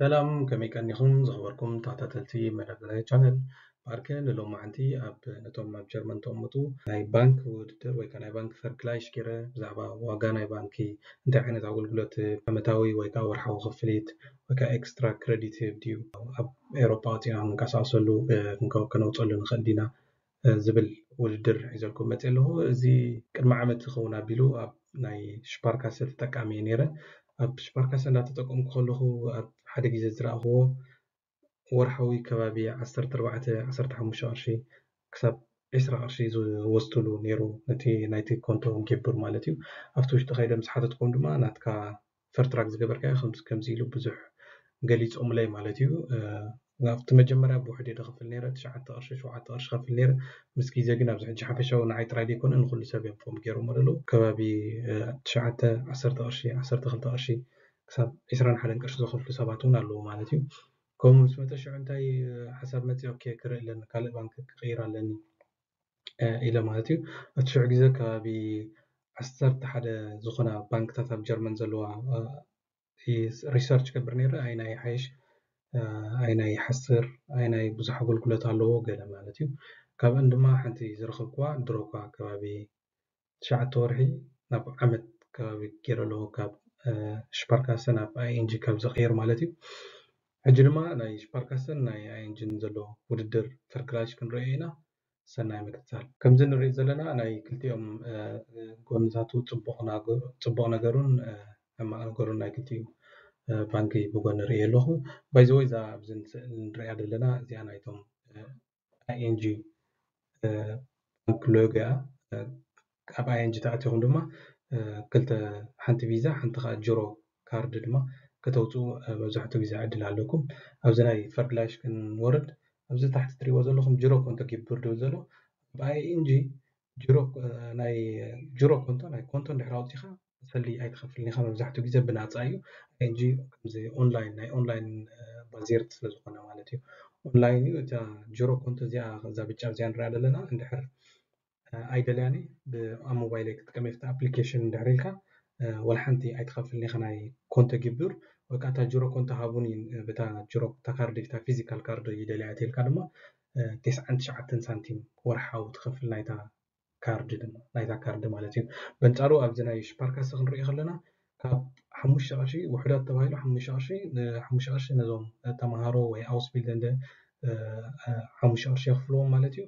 ሰላም፣ ከመይ ቀኒኹም ዝኸበርኩም ተኸታተልቲ መደብ ቻነል ባርከ? ንሎማዓንቲ ኣብ ነቶም ኣብ ጀርመን ተቐምጡ ናይ ባንክ ውድድር ወይ ከዓ ናይ ባንክ ፈርግላይሽ ገይረ ብዛዕባ ዋጋ ናይ ባንኪ፣ እንታይ ዓይነት ኣገልግሎት፣ ዓመታዊ ወይ ከዓ ወርሓዊ ክፍሊት ወይ ከዓ ኤክስትራ ክረዲት ይህብ ድዩ፣ ኣብ ኤውሮጳ ወፂና ክንቀሳቀሰሉ፣ እ፣ ክንከ-፣ ከነውፀሉ ንኽእል ዲና፣ እ፣ ዝብል ውድድር ሒዘልኩም መፅእ ኣለኹ። እዚ ቅድሚ ዓመት ዝኸውን ኣቢሉ ኣብ ናይ ሽፓርካሰ ተጠቃሚ እየ ነይረ። ኣብ ሽፓርካሰ እንዳተጠቀምኩ ከለኹ ኣብ ሓደ ግዜ ዝረኣኽዎ ወርሓዊ ከባቢ ዓሰርተ ኣርባዕተ፣ ዓሰርተ ሓሙሽተ ቅርሺ ክሳብ ዕስራ ቅርሺ ዝወስድሉ ነይሩ፣ ነቲ ናይቲ ኮንቶ ጌብር ማለት እዩ። ኣብቲ ውሽጢ ከይደ ምስ ሓተትኩም ድማ ናትካ ፈርትራክ ዝገበርካዮ ከምዚ፣ ከምዚ ኢሉ ብዙሕ ገሊጾምለይ ማለት እዩ። እ፣ ኣብቲ መጀመርያ ብውሕድ እየ ዝኸፍል ነይረ፣ ትሽዓተ ቅርሺ፣ ሸውዓተ ቅርሺ ከፍል ነይረ። ምስ ግዜ ግን ኣብዚ ሕጂ ሓፈሻዊ ንዓይ ጥራይ ዘይኮነ ንኹሉ ሰብ እዮም ፎም ገይሮሞ ዘለዉ። ከባቢ፣ እ፣ ትሽዓተ፣ ዓሰርተ ቅርሺ፣ ዓሰርተ ክልተ ቅርሺ ክሳብ ዕስራን ሓደን ቅርሺ ዝኸፍሉ ሰባት እውን ኣለዉ ማለት እዩ። ከምኡ ምስ መጠ ሽዑ እንታይ፣ እ፣ ሓሳብ መፅእ፣ ኦኬ፣ ክርኢ ኣለኒ፣ ካልእ ባንክ ክቕይር ኣለኒ፣ እ፣ ኢለ ማለት እዩ። እቲ ሽዑ ግዜ ከባቢ ዓሰርተ ሓደ ዝኾና ባንክታት ኣብ ጀርመን ዘለዋ፣ እ፣ ሪሰርች ገብር ነይረ፣ ኣይናይ ሓይሽ፣ እ፣ ኣይናይ ሓስር፣ ኣይናይ ብዙሕ ኣገልግሎት ኣለዎ ገለ ማለት እዩ። ካብአን ድማ ሓንቲ ዝረኸብኩዋ ድሮ እኳ ከባቢ ትሽዓተ ወርሒ ናብ ዓመት ከባቢ ገይረ ኣለኹ፣ ካብ፣ እ፣ ሽፓርካሰ ናብ ኣይ ኤን ጂ ካብ ዝቕይር ማለት እዩ። ሕጂ ድማ ናይ ሽፓርካሰን ናይ ኣይ ኤን ጂን ዘሎ ውድድር ፈርግላይሽ ክንርእዮ ኢና። ሰናይ ምክትታል። ከምዚ ንሪኦ ዘለና ናይ ክልቲኦም፣ እ፣ ጎንታቱ ጽቡቕ ናገ-፣ ጽቡቕ ነገሩን፣ እ፣ ሕማቕ ነገሩን ናይ ክልቲኡ፣ እ፣ ባንኪ ብጎኒ ርእየ ኣለኹ። ባይ ዘ ወይ እዛ ኣብዚ ንስእል ንሪኣ ዘለና እዚኣ ናይቶም፣ እ፣ ኣይ ኤን ጂ፣ እ፣ ባንክ ሎጎ እያ። እ፣ ኣብ ኣይ ኤን ጂ ተኣቲኹም ድማ፣ እ፣ ክልተ፣ ሓንቲ ቪዛ፣ ሓንቲ ከዓ ጅሮ ካርድ ድማ ከተውፅኡ፣ እ፣ መብዛሕትኡ ግዜ ዕድል ኣለኩም። ኣብዚ ናይ ፈርግላይሽ ክንወርድ፣ ኣብዚ ታሕቲ ትሪእዎ ዘለኹም ጅሮ ኮንቶ ጊብር ድብል ዘሎ፣ ኣብ ኣይ ኤን ጂ ጅሮ፣ እ፣ ናይ ጅሮ ኮንቶ፣ ናይ ኮንቶ እንድሕር ኣውፂኻ ሰልዲ ኣይትኸፍልን ኢኻ። መብዛሕትኡ ግዜ ብናፃ እዩ። ኣይ ኤን ጂ ከምዚ ኦንላይን፣ ናይ ኦንላይን፣ እ፣ ባዜርት ስለ ዝኾነ ማለት እዩ። ኦንላይን እዩ። እታ ጅሮ ኮንቶ እዚኣ፣ እዛ ብጫ እዚኣ ንሪኣ ዘለና፣ እንድሕር፣ እ፣ ኣይደልያን እየ፣ ብ-፣ ኣብ ሞባይለይ ክጥቀም እየ፣ ኣብቲ ኣፕሊኬሽን እንድሕር ኢልካ፣ እ፣ ወላ ሓንቲ ኣይትኸፍልን ኢኻ ናይ ኮንቶ ጊብር፣ ወይ ከዓ እታ ጅሮ ኮንቶ ሃቡኒ፣ እ፣ ብታ ጅሮ፣ እታ ካርድ፣ እታ ፊዚካል ካርድ ይደልያ እየ ኢልካ ድማ፣ እ፣ ተስዓን ትሽዓተን ሳንቲም ወርሓዊ ትኸፍል ናይታ ካርድ ድማ፣ ናይታ ካርድ ማለት እዩ። በንጻሩ ኣብዚ ናይ ሽፓርካሰ ክንሪኦ ከለና ካብ ሓሙሽተ ቅርሺ ውሑዳት ተባሂሉ ሓሙሽተ ቅርሺ፣ ን-፣ ሓሙሽተ ቅርሺ ነዞም ተማሃሮ ወይ ኣውስቢልደንደ፣ እ፣ እ፣ ሓሙሽተ ቅርሺ የኽፍልዎም ማለት እዩ።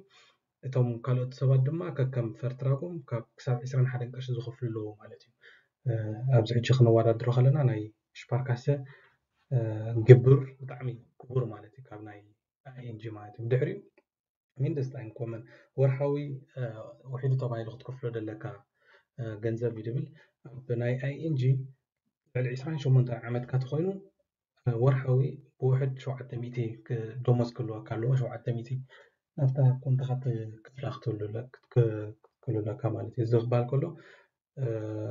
እቶም ካልኦት ሰባት ድማ ከከም ፈርትራጎም ካብ ክሳብ ዕስራን ሓደን ቅርሺ ዝኸፍሉ ኣለዎ ማለት እዩ። እ፣ ኣብዚ ሕጂ ክነወዳድሮ ከለና ናይ ሽፓርካሰ፣ እ፣ ግብር ብጣዕሚ ክቡር ማለት እዩ ካብ ናይ ኣይ ኤን ጂ ማለት እዩ። ብድሕሪኡ ሚንደስታይንኮመን ወርሓዊ፣ እ፣ ውሒዱ ተባሂሉ ክትከፍሎ ደለካ፣ እ፣ ገንዘብ እዩ ድብል። ኣብ ናይ ኣይ ኤን ጂ ልዕሊ ዕስራን ሸሞንተን ዓመትካ ተኾይኑ፣ እ፣ ወርሓዊ ብውሕድ ሸውዓተ ሚእቲ ክ-፣ ደሞዝ ክህልወካ ኣለዎ። ሸውዓተ ሚእቲ ናብታ ኮንቶኻ ትከፍላ ክትህሉ ኣለ-፣ ክትክ-፣ ክትክህሉ ኣለካ ማለት እዩ። እዚ ክበሃል ከሎ፣ እ፣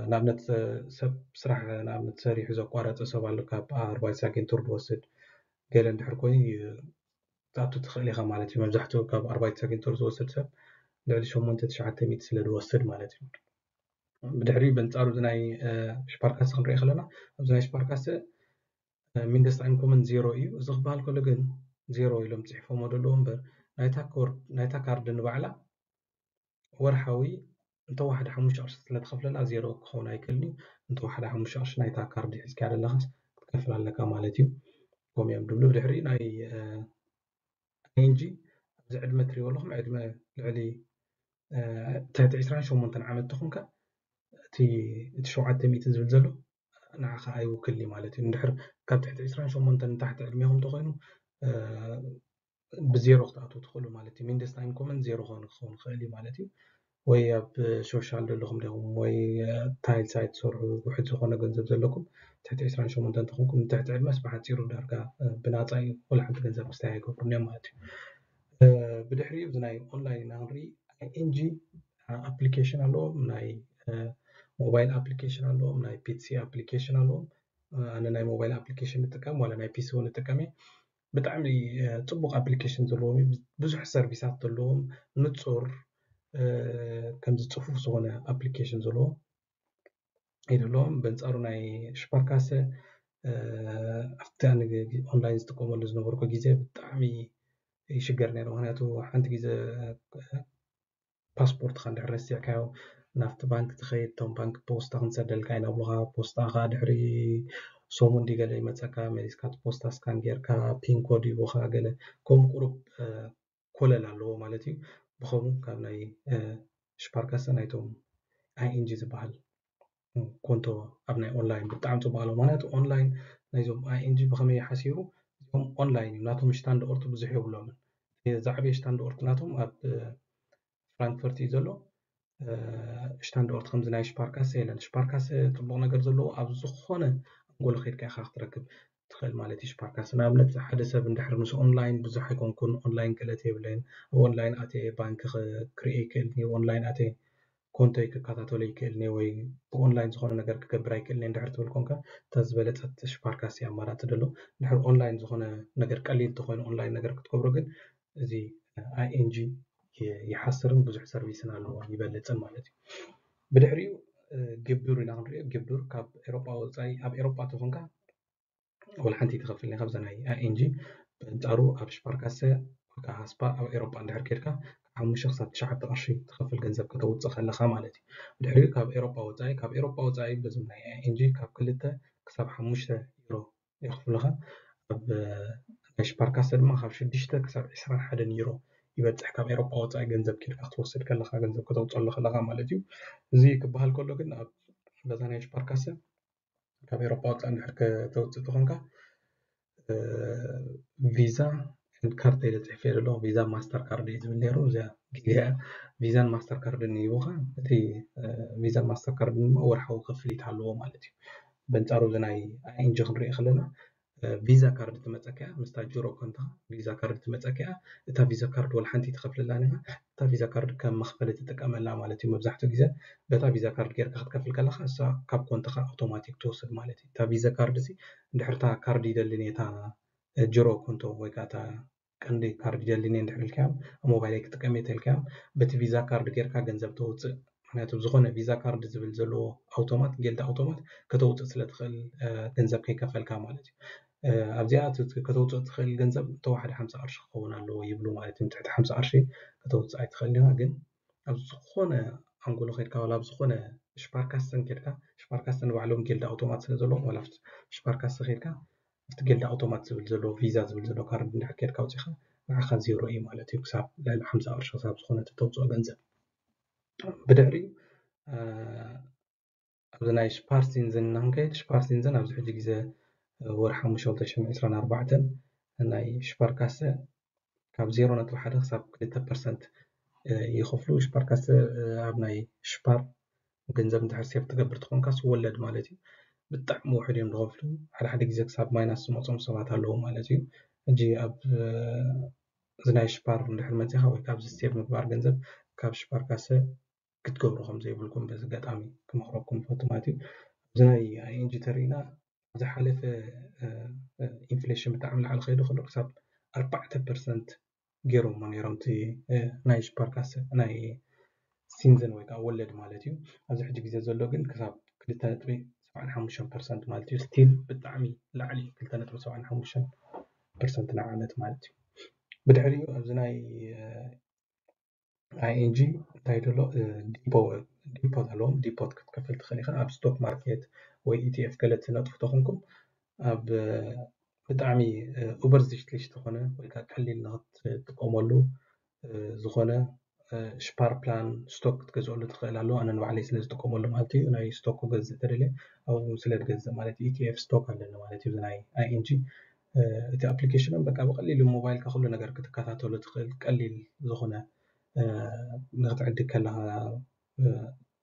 ንኣብነት፣ እ፣ ሰብ ስራሕ ንኣብነት ሰሪሑ ዘቋረጸ ሰብ ኣሎ፣ ካብ ኣርባይት ሳጌንቱር ዝወስድ ገለ እንድሕር ኮይኑ፣ እ፣ ክትኣቱ ትኽእል ኢኻ ማለት እዩ። መብዛሕትኡ ካብ ኣርባይት ሳጌንቱር ዝወስድ ሰብ ልዕሊ ሸሞንተ ትሽዓተ ሚእቲ ስለ ዝወስድ ማለት እዩ። ብድሕሪ በንጻሩ እዚ ናይ፣ እ፣ ሽፓርካሰ ክንሪኦ ከለና፣ ኣብዚ ናይ ሽፓርካሰ፣ እ፣ ሚንደስታይንኮመን ዜሮ እዩ። እዚ ክበሃል ከሎ ግን ዜሮ ኢሎም ጽሒፎሞ ዘለዉ እምበር፣ ናይታ ኮር-፣ ናይታ ካርድ ንባዕላ ወርሓዊ እንተወሓደ ሓሙሽተ ቅርሺ ስለ ትኸፍለላ ዜሮ ክኸውን ኣይክእልን እዩ። እንተወሓደ ሓሙሽተ ቅርሺ ናይታ ካርድ ሒዝካያ ዘለኻስ ክትከፍል ኣለካ ማለት እዩ። ከምኡ እዮም ድብሉ። ብድሕሪ ናይ፣ እ፣ ኣይ ኤን ጂ ኣብዚ ዕድመ ትሪእዎ ኣለኹም፣ ዕድመ ልዕሊ፣ እ፣ ትሕቲ ዕስራን ሸሞንተን ዓመት ተኾንካ እቲ፣ እቲ ሸውዓተ ሚእቲ ዝብል ዘሎ ንዓኻ ኣይውክልን እዩ ማለት እዩ። እንድሕር ካብ ትሕቲ ዕስራን ሸሞንተን ንታሕቲ ዕድሜኹም ተኾይኑ፣ እ፣ ብዜሮ ክትኣትዉ ትኽእሉ ማለት እዩ። ሚንደስታይንኮመን ዜሮ ክኸውን፣ ክኸውን ይኽእል እዩ ማለት እዩ። ወይ ኣብ ሶሻል ዘለኹም ዲኹም ወይ፣ እ፣ ታይል ሳይት ትሰርሑ ውሕድ ዝኾነ ገንዘብ ዘለኩም ትሕቲ ዕስራን ሸሞንተን እንተኾንኩም፣ ንትሕቲ ዕድመስ ብሓጺሩ ዳርጋ፣ እ፣ ብናጻ እዩ፣ ወላ ሓንቲ ገንዘብ ክስታይ ኣይገብሩን እዮም ማለት እዩ። እ፣ ብድሕሪኡ እዚ ናይ ኦንላይን ኢና ክንርኢ። ኣይ ኤን ጂ ኣፕሊኬሽን ኣለዎም፣ ናይ፣ እ፣ ሞባይል ኣፕሊኬሽን ኣለዎም፣ ናይ ፒ ሲ ኣፕሊኬሽን ኣለዎም። እ፣ ኣነ ናይ ሞባይል ኣፕሊኬሽን እጥቀም፣ ዋላ ናይ ፒ ሲ እውን እጥቀም እየ። ብጣዕሚ፣ እ፣ ጽቡቕ ኣፕሊኬሽን ዘለዎም እዩ። ብዙሕ ሰርቪሳት ዘለዎም፣ ንጹር፣ እ፣ ከምዚ ጽፉፍ ዝኾነ ኣፕሊኬሽን ዘለዎ እዩ ዘለዎም። በንጻሩ ናይ ሽፓርካሰ ኣብቲ ኣነ ኦንላይን ዝጥቀመሉ ዝነበርኩ ግዜ ብጣዕሚ ይሽገር ነይረ። ምክንያቱ ሓንቲ ግዜ ፓስፖርትካ እንድሕር ረሲዕካዮ ናብቲ ባንክ ትኸይድ፣ እቶም ባንክ ፖስታ ክንሰደልካ ኢና ብሉካ። ፖስታ ከዓ ድሕሪ ሰሙን ድዩ ገለ ይመፀካ፣ መሊስካ እቲ ፖስታ ስካን ጌርካ ፒን ኮድ ይቡካ ገለ ከምኡ ቁሩብ ኮለል ኣለዎ ማለት እዩ። ብኸምኡ ካብ ናይ ሽፓርካሰ ናይቶም ኣይኤንጂ ዝበሃል ኮንቶ ኣብ ናይ ኦንላይን ብጣዕሚ ፅቡቅ ኣለዎ። ምክንያቱ ኦንላይን ናይዞም ኣይኤንጂ ብከመይ ሓሲሩ፣ እዚኦም ኦንላይን እዩ፣ ናቶም ስታንዳርድ ብዙሕ የብሎምን። ዝዓበየ ስታንዳርድ ናቶም ኣብ ፍራንክፈርት እዩ ዘሎ። ስታንዳርድ ከምዚ ናይ ሽፓርካሰ የለን። ሽፓርካሰ ፅቡቅ ነገር ዘለዎ ኣብ ዝኾነ ኣንጎሎ ከይድካ ኢካ ክትረክብ ትኽእል ማለት እዩ። ሽፓርካሰ ንኣብነት ሓደ ሰብ እንድሕር ምስ ኦንላይን ብዙሕ ኣይኮንኩን፣ ኦንላይን ክእለት የብለይን፣ ኣብ ኦንላይን ኣትየ ባንክ ክርኢ ይክእል፣ ኦንላይን ኣትየ ኮንቶይ ክከታተሎ ይክእል ወይ ብኦንላይን ዝኾነ ነገር ክገብር ኣይክእልን እንድሕር ትብል ኮንካ፣ እታ ዝበለፀት ሽፓርካሰ ኣማራፂ ደሎ። እንድሕር ኦንላይን ዝኾነ ነገር ቀሊል ተኮይኑ ኦንላይን ነገር ክትገብሮ ግን እዚ ኣይኤንጂ ይሓስርን ብዙሕ ሰርቪስን ኣለዎ ይበልፅን ማለት እዩ። ብድሕሪኡ ግብዱር ኢና ክንሪኦ። ግብዱር ካብ ኤሮጳ ወፃኢ፣ ኣብ ኤሮጳ ተኾንካ ወላ ሓንቲ ትኸፍል ኢኻ ብዛ ናይ ኣይኤንጂ። በንጻሩ ኣብ ሽፓርካሰ ወይ ከዓ ሃስፓ ኣብ ኤሮጳ እንድሕር ኬድካ ካብ ሓሙሽተ ክሳብ ትሽዓተ ቅርሺ ትኸፍል ገንዘብ ከተውፅእ ከለኻ ማለት እዩ። ብድሕሪኡ ካብ ኤሮጳ ወፃኢ፣ ካብ ኤሮጳ ወፃኢ በዞም ናይ ኣይኤንጂ ካብ ክልተ ክሳብ ሓሙሽተ ዩሮ የኽፍሉኻ። ኣብ ናይ ሽፓርካሰ ድማ ካብ ሽዱሽተ ክሳብ ዕስራን ሓደን ዩሮ ይበፅሕ፣ ካብ ኤሮጳ ወፃኢ ገንዘብ ኬድካ ክትወስድ ከለኻ፣ ገንዘብ ከተውፅኣሉ ከለኻ ማለት እዩ። እዚ ክበሃል ከሎ ግን ኣብ በዛ ናይ ሽፓርካሰ ካብ ኤሮጳ ወፃኢ እንድሕር ከተውፅእ ተኾንካ ቪዛ ካርድ ኢለ ፅሒፈ ዘሎ። ቪዛ ማስተር ካርድ እዩ ዝብል ነይሩ። እዚኣ ጊዜያ ቪዛን ማስተር ካርድን ይህቡኻ። እቲ ቪዛን ማስተር ካርድን ድማ ወርሓዊ ክፍሊት ኣለዎ ማለት እዩ። በንጻሩ እዚ ናይ ኣይኤንጂ ክንሪኦ ከለና ቪዛ ካርድ ትመፀካ እያ፣ ምስታ ጅሮ ኮንታ ቪዛ ካርድ ትመፀካ እያ። እታ ቪዛ ካርድ ወላ ሓንቲ ትኸፍልላን ኢኻ። እታ ቪዛ ካርድ ከም መኽፈሊ ትጥቀመላ ማለት እዩ። መብዛሕትኡ ግዜ በታ ቪዛ ካርድ ጌርካ ክትከፍል ከለኻ እሳ ካብ ኮንትኻ ኣውቶማቲክ ትወስድ ማለት እዩ። እታ ቪዛ ካርድ እዚ እንድሕር እታ ካርድ ይደልን እየ፣ እታ ጅሮ ኮንቶ ወይ ከዓ እታ ቀንዲ ካርድ ይደልን እየ እንድሕር ኢልካዮም፣ ኣብ ሞባይለይ ክጥቀም እየ ተልካዮም፣ በቲ ቪዛ ካርድ ጌርካ ገንዘብ ተውፅእ። ምክንያቱ ዝኾነ ቪዛ ካርድ ዝብል ዘለዎ ኣውቶማት፣ ጌልዳ ኣውቶማት ከተውፅእ ስለ ትኽእል ገንዘብ ከይከፈልካ ማለት እዩ። ኣብዚኣ ከተውፅእ ትኽእል ገንዘብ እንተወሓደ ሓምሳ ቅርሺ ክኸውን ኣለዎ ይብሉ ማለት እዩ። ትሕቲ ሓምሳ ቅርሺ ከተውፅእ ኣይትኽእል ኢኻ። ግን ኣብ ዝኾነ ኣንጎሎ ከድካ ዋላ ኣብ ዝኾነ ሽፓርካስተን ከድካ፣ ሽፓርካስተን ባዕሎም ጌልዳ ኣውቶማት ስለ ዘለዎም ዋላ ሽፓርካስተ ከድካ ኣብቲ ጌልዳ ኣውቶማት ዝብል ዘሎ ቪዛ ዝብል ዘሎ ካርድ እንድሕር ከድካ ኣውፂኻ ንዓኻ ዜሮ እዩ ማለት እዩ። ክሳብ ልዕሊ ሓምሳ ቅርሺ ክሳብ ዝኾነ ተውፅኦ ገንዘብ። ብድሕሪኡ ኣብዚ ናይ ሽፓርሲንዝን ንክንከይድ፣ ሽፓርሲንዝን ኣብዚ ሕጂ ግዜ ወርሒ ሓሙሽተ ክልተ ሽሕን ዕስራን ኣርባዕተን ናይ ሽፓርካሰ ካብ ዜሮ ነጥቢ ሓደ ክሳብ ክልተ ፐርሰንት ይኸፍሉ። ሽፓርካሰ ኣብ ናይ ሽፓር ገንዘብ እንድሕር ሴቭ ትገብር ትኾንካስ ወለድ ማለት እዩ። ብጣዕሚ ውሕድ እዮም ዝኸፍሉ። ሓደ ሓደ ግዜ ክሳብ ማይናስ ዝመፆም ሰባት ኣለዉ ማለት እዩ። ሕጂ ኣብ እዚ ናይ ሽፓር እንድሕር መፂኻ ወይ ካብዚ ሴቭ ምግባር ገንዘብ ካብ ሽፓርካሰ ክትገብሩ ከም ዘይብልኩም በዚ ኣጋጣሚ ክመኽረኩም ይፈቱ ማለት እዩ። ኣብዚ ናይ ኣይኤንጂ ተሪእና ኣብ ዝሓለፈ ኢንፍሌሽን ብጣዕሚ ላዕሊ ከይዱ ከሎ ክሳብ ኣርባዕተ ፐርሰንት ገይሮሞ ነይሮም እቲ ናይ ሽፓርካሰ ናይ ሲንዝን ወይ ከዓ ወለድ ማለት እዩ። ኣብዚ ሕጂ ግዜ ዘሎ ግን ክሳብ ክልተ ነጥቢ ሰብዓን ሓሙሽተን ፐርሰንት ማለት እዩ። ስቲል ብጣዕሚ ላዕሊ ክልተ ነጥቢ ሰብዓን ሓሙሽተን ፐርሰንት ንዓመት ማለት እዩ። ብድሕሪኡ ኣብዚ ናይ ኣይኤንጂ እንታይ ደሎ ዲፖት ኣለዎም። ዲፖት ክትከፍል ትኽእል ኢኻ ኣብ ስቶክ ማርኬት ወይ ኢቲኤፍ ገለ ትነጥፉ ተኾንኩም ኣብ ብጣዕሚ ኡበርዚሽትሊሽ ዝኾነ ወይ ከዓ ቀሊል ንክትጥቀመሉ ዝኾነ ሽፓር ፕላን ስቶክ ክትገዝአሉ ትኽእል ኣሎ። ኣነ ንባዕለይ ስለ ዝጥቀመሉ ማለት እዩ። ናይ ስቶክ ክገዝእ ተደልየ ኣብኡ ስለ ዝገዝእ ማለት እዩ። ኢቲኤፍ ስቶክ ኣለኒ ማለት እዩ። ናይ ኣይኤንጂ እቲ ኣፕሊኬሽኖም በቃ ብቐሊሉ ሞባይልካ ኩሉ ነገር ክትከታተሉ ትኽእል ቀሊል ዝኾነ ንክትዕድግ ከለኻ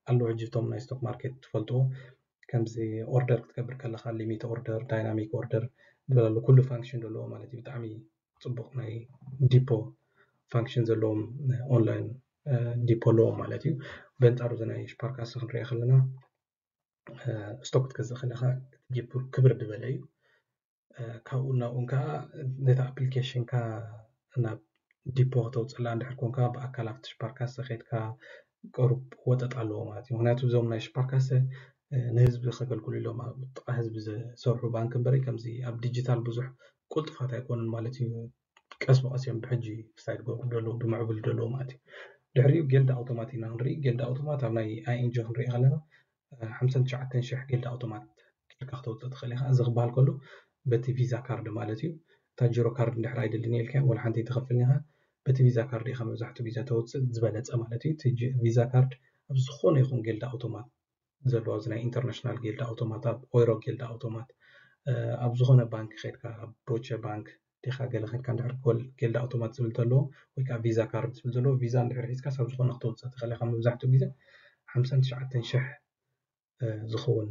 ኣለዉ። ሕጂ እቶም ናይ ስቶክ ማርኬት ትፈልጥዎ ከምዚ ኦርደር ክትገብር ከለኻ ሊሚት ኦርደር፣ ዳይናሚክ ኦርደር ዝበለሉ ኩሉ ፋንክሽን ዘለዎ ማለት እዩ። ብጣዕሚ ፅቡቕ ናይ ዲፖ ፋንክሽን ዘለዎም ኦንላይን ዲፖ ኣለዎም ማለት እዩ። በንፃሩ እዚ ናይ ሽፓርካሰ ክንሪኦ ከለና ስቶክ ክትገዝእ ከለኻ እቲ ዲፖ ክብር ዝበለ እዩ። ካብኡ ናብኡን ከዓ ነቲ ኣፕሊኬሽንካ ናብ ዲፖ ከተውፅላ እንድሕር ኮንካ ብኣካል ኣብቲ ሽፓርካሰ ከይድካ ቅሩብ ወጠጥ ኣለዎ ማለት እዩ። ምክንያቱ እዞም ናይ ሽፓርካሰ ንህዝቢ ከገልግሉ ኢሎም ኣብ ጥቓ ህዝቢ ዝሰርሑ ባንክ እምበሪ ከምዚ ኣብ ዲጂታል ብዙሕ ቁልጥፋት ኣይኮኑን ማለት እዩ። ቀስ ብቐስ እዮም ብሕጂ ክሳይድ ገብሩ ደለዉ ብምዕብል ደለዉ ማለት እዩ። ድሕሪኡ ጌልድ ኣውቶማት ኢና ክንርኢ። ጌልድ ኣውቶማት ኣብ ናይ ኣይኤንጂ ክንርኢ ከለና ሓምሳን ትሽዓተን ሽሕ ጌልድ ኣውቶማት ጌርካ ክተውፅእ ትኽእል ኢኻ። እዚ ክበሃል ከሎ በቲ ቪዛ ካርድ ማለት እዩ። እታ ጂሮ ካርድ እንድሕር ኣይደልን ኢልካ ወላ ሓንቲ ኣይትኸፍልን ኢኻ። በቲ ቪዛ ካርድ ኢኻ መብዛሕትኡ ግዜ ተውፅእ ዝበለፀ ማለት እዩ። እቲ ቪዛ ካርድ ኣብ ዝኾነ ይኹን ጌልድ ኣውቶማት ዘለዎ እዚ ናይ ኢንተርናሽናል ጌልድ ኣውቶማት ኣብ ኦይሮ ጌልድ ኣውቶማት ኣብ ዝኾነ ባንክ ከድካ ኣብ ዶቸ ባንክ ዲኻ ገለ ከድካ እንድሕር ጌልድ ኣውቶማት ዝብል ዘለዎ ወይ ከዓ ቪዛ ካርድ ዝብል ዘለዎ ቪዛ እንድሕር ሒዝካ ሳብ ዝኾነ ክተውፅእ ትኽእል ኢኻ። መብዛሕትኡ ግዜ ሓምሳን ትሽዓተን ሽሕ ዝኸውን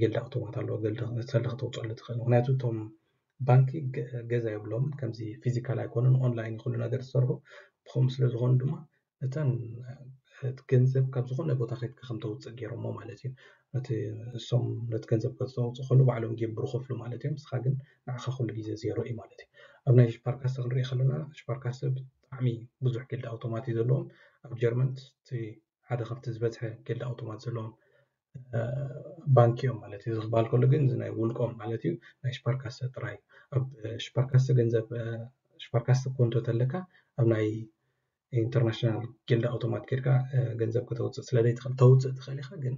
ጌልድ ኣውቶማት ኣለዎ። ጌልድ ሰለ ክተውፅኣሉ ትኽእል ምክንያቱ እቶም ባንኪ ገዛ የብሎም ከምዚ ፊዚካል ኣይኮኑን ኦንላይን ኩሉ ነገር ዝሰርሑ ብኸም ስለ ዝኾኑ ድማ እተን ገንዘብ ካብ ዝኾነ ቦታ ከድካ ከም ተውፅእ ገይሮሞ ማለት እዩ። ነቲ እሶም ነቲ ገንዘብ ከተውፅእ ከሉ ባዕሎም ጌብሩ ከፍሉ ማለት እዮም። ንስኻ ግን ንዓኻ ኩሉ ግዜ ዜሮ እዩ ማለት እዩ። ኣብ ናይ ሽፓርካስተ ክንሪኢ ከለና ሽፓርካስተ ብጣዕሚ ብዙሕ ጌልድ ኣውቶማት እዩ ዘለዎም። ኣብ ጀርመን እቲ ሓደ ካብቲ ዝበዝሐ ጌልድ ኣውቶማት ዘለዎም ባንክ እዮም ማለት እዩ። እዚ ክበሃል ከሎ ግን እዚ ናይ ውልቆም ማለት እዩ ናይ ሽፓርካስተ ጥራይ። ኣብ ሽፓርካስተ ገንዘብ ሽፓርካስተ ኮንቶ ተለካ ኣብ ናይ ኢንተርናሽናል ጌልድ ኣውቶማት ኬድካ ገንዘብ ከተውፅእ ስለ ዘይትኽእል ተውፅእ ትኽእል ኢኻ ግን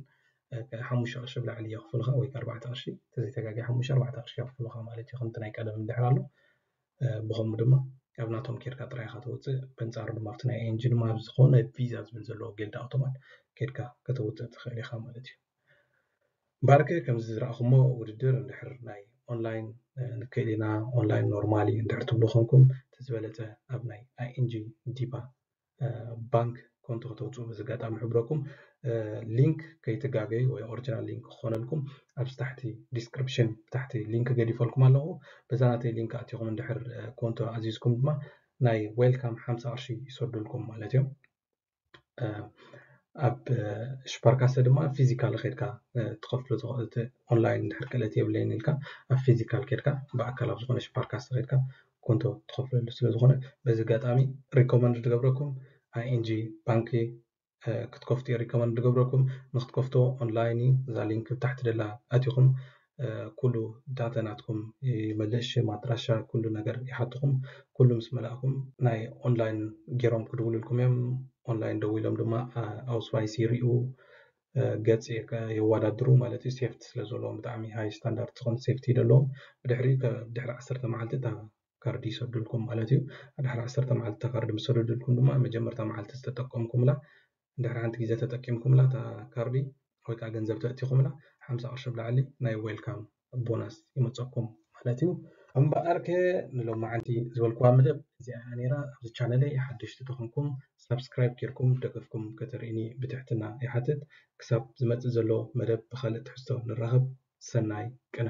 ሓሙሽተ ቅርሺ ብላዕሊ የኽፍሉኻ ወይ ኣርባዕተ ቅርሺ ተዘይተጋጊ ሓሙሽተ ኣርባዕተ ቅርሺ የኽፍሉኻ ማለት እዩ። ከምቲ ናይ ቀደም እንድሕር ኣሎ ብኸምኡ ድማ ኣብ ናቶም ኬድካ ጥራይ ኢኻ ተውፅእ። በንፃሩ ድማ ኣብቲ ናይ ኤንጂ ድማ ኣብ ዝኾነ ቪዛ ዝብል ዘለዎ ጌልድ ኣውቶማት ኬድካ ከተውፅእ ትኽእል ኢኻ ማለት እዩ። ባርከ ከምዚ ዝረኣኹሞ ውድድር እንድሕር ናይ ኦንላይን ንክእል ኢና ኦንላይን ኖርማሊ እንድሕር ትብሉ ኮንኩም እቲ ዝበለፀ ኣብ ናይ ኣይኤንጂ ዲባ ባንክ ኮንቶ ከተውፅኡ በዚ ኣጋጣሚ ሕብረኩም። ሊንክ ከይትጋገዩ ወይ ኦሪጂናል ሊንክ ክኾነልኩም ኣብዚ ታሕቲ ዲስክሪፕሽን ብታሕቲ ሊንክ ገዲፈልኩም ኣለኹ። በዛ ናተይ ሊንክ ኣቲኹም እንድሕር ኮንቶ ኣዚዝኩም ድማ ናይ ዌልካም ሓምሳ ቅርሺ ይሰዱልኩም ማለት እዮም። ኣብ ሽፓርካሰ ድማ ፊዚካል ኬድካ ትኸፍሎ ኦንላይን እንድሕር ክእለት የብለይን ኢልካ ኣብ ፊዚካል ኬድካ ብኣካል ኣብ ዝኾነ ሽፓርካሰ ኬድካ ኮንቶ ትኸፍለሉ ስለ ዝኾነ በዚ ኣጋጣሚ ሪኮመንድ ዝገብረኩም ኣይኤንጂ ባንኪ ክትከፍቱ ሪኮመንድ ዝገብረኩም። ንክትከፍቶ ኦንላይን እዩ። እዛ ሊንክ ብታሕቲ ደላ ኣቲኹም ኩሉ ዳታ ናትኩም ይመልእ፣ ሽም፣ ኣድራሻ፣ ኩሉ ነገር ይሓትኹም። ኩሉ ምስ መላእኩም ናይ ኦንላይን ገይሮም ክድውሉልኩም እዮም። ኦንላይን ደዊሎም ድማ ኣውስዋይስ ይሪኡ፣ ገጽ የወዳድሩ ማለት እዩ። ሴፍቲ ስለ ዘለዎም ብጣዕሚ ሃይ ስታንዳርድ ዝኾነ ሴፍቲ ደለዎም። ብድሕሪ ድሕሪ ዓሰርተ መዓልቲ እታ ካርዲ ይሰዱልኩም ማለት እዩ። ድሕሪ ዓሰርተ መዓልቲ እታ ካርዲ ምስ ሰደዱልኩም ድማ መጀመርታ መዓልቲ ዝተጠቀምኩምላ ድሕሪ ሓንቲ ግዜ ተጠቂምኩምላ እታ ካርዲ ወይ ከዓ ገንዘብ ተእቲኹምላ ሓምሳ ቅርሺ ብላዕሊ ናይ ዌልካም ቦናስ ይመፀኩም ማለት እዩ። እምበኣርከ ንሎማዓንቲ ዝበልኩዋ መደብ እዚኣ ነይራ። ኣብዚ ቻነለይ ሓደሽቲ ተኾንኩም ሳብስክራይብ ጌርኩም ደገፍኩም ከተርእኒ ብትሕትና ይሓትት። ክሳብ ዝመፅእ ዘሎ መደብ ብካልእ ትሕዝቶ ንራኸብ። ሰናይ ቅነ።